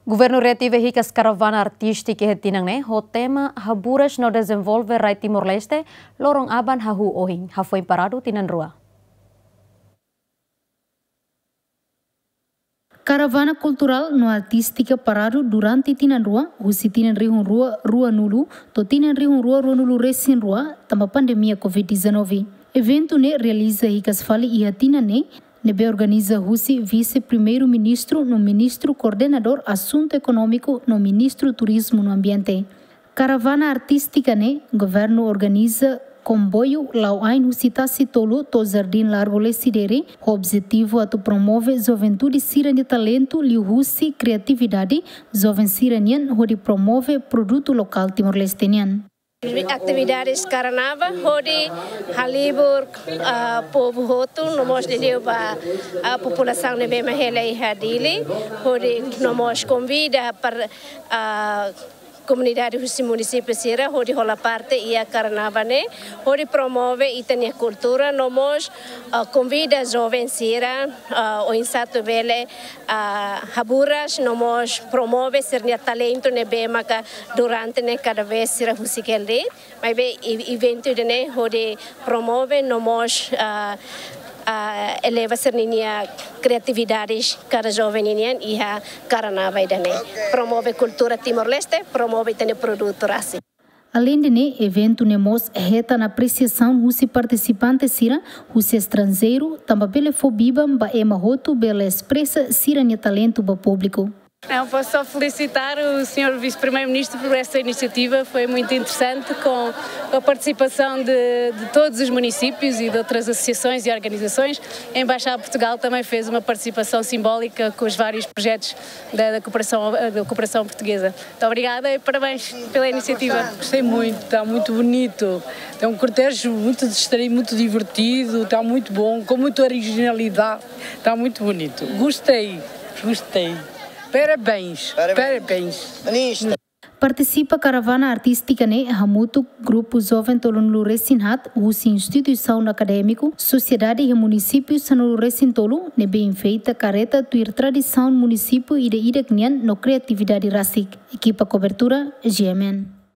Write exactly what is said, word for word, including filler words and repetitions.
Governu reativa hikas karavana artístika iha tinan ne'e ho tema Haburas no Dezenvolve Rai Timor-Leste, loron aban hahú ohin, hafoin paradu tinan rua. Karavana kulturál no artístika paradu durante tinan rua, husi tinan rihun rua ruanulu to'o tinan rihun rua ruanulu resin rua, tanba pandemia covid dezanove. Eventu ne'e realiza hikas fali iha tinan ne'e, ne'ebé organiza husi Vise-Primeiru-Ministru no Ministru Koordenadór Asuntu Ekonómiku no Ministru Turizmu no Ambiente. Karavana artístika ne'e, governu organiza komboiu la'o ain husi Tasi Tolu to'o Jardín Largo Lecidere, ho objetivu atu promove juventude sira-nia talentu liuhusi kriatividade joven sira-nian hodi promove produtu lokál Timor-Leste nian. Atividades karnaval hodi halibur, ah, povu hotu, no mós liuliu ba, ah, populasaun ne'ebé mak hela iha Dili, hodi no mós konvida para, ah, komunidade husi munisípiu sira hodi hola parte iha karnaval ne'e, hodi promove ita-nia kultura, no mós, ah, konvida joven sira, ah, oinsá atu bele, ah, haburas, no mós promove sira-nia talentu ne'ebé maka durante ne'e kada vez sira husik hela de'it. Maibé e-, eventu ida-ne'e hodi promove no mós, ah, ah, eleva sira-nia kriatividade kada joven nian iha karnaval ida-ne'e. Promove kultura Timor-Leste, promove ita-nia produtu rasik. Aleinde ne'e, eventu ne'e mós hetan apresiasaun husi partisipante sira husi estranjeiru, tanba bele fó biban ba ema hotu bele espresa sira-nia talentu ba públiku. Não, posso só felicitar o senhor Vice-Primeiro-Ministro por essa iniciativa. Foi muito interessante, com a participação de, de todos os municípios e de outras associações e organizações. A Embaixada de Portugal também fez uma participação simbólica com os vários projetos da, da cooperação, da cooperação portuguesa. Muito obrigada e parabéns pela iniciativa. Gostei muito, está muito bonito. Tem um cortejo muito distraído, muito divertido, está muito bom, com muita originalidade, está muito bonito. Gostei, gostei. Parabéns, parabéns. Partisipa karavana artístika ne'e hamutuk grupu joven tolunulu resin haat husi instituisaun akadémiku, sosiedade iha munisípiu sanulu resin tolu, ne'ebé enfeita karreta tuir tradisaun munisípiu ida-idak nian no kriatividade rasik. Ekipa kobertura, G M N.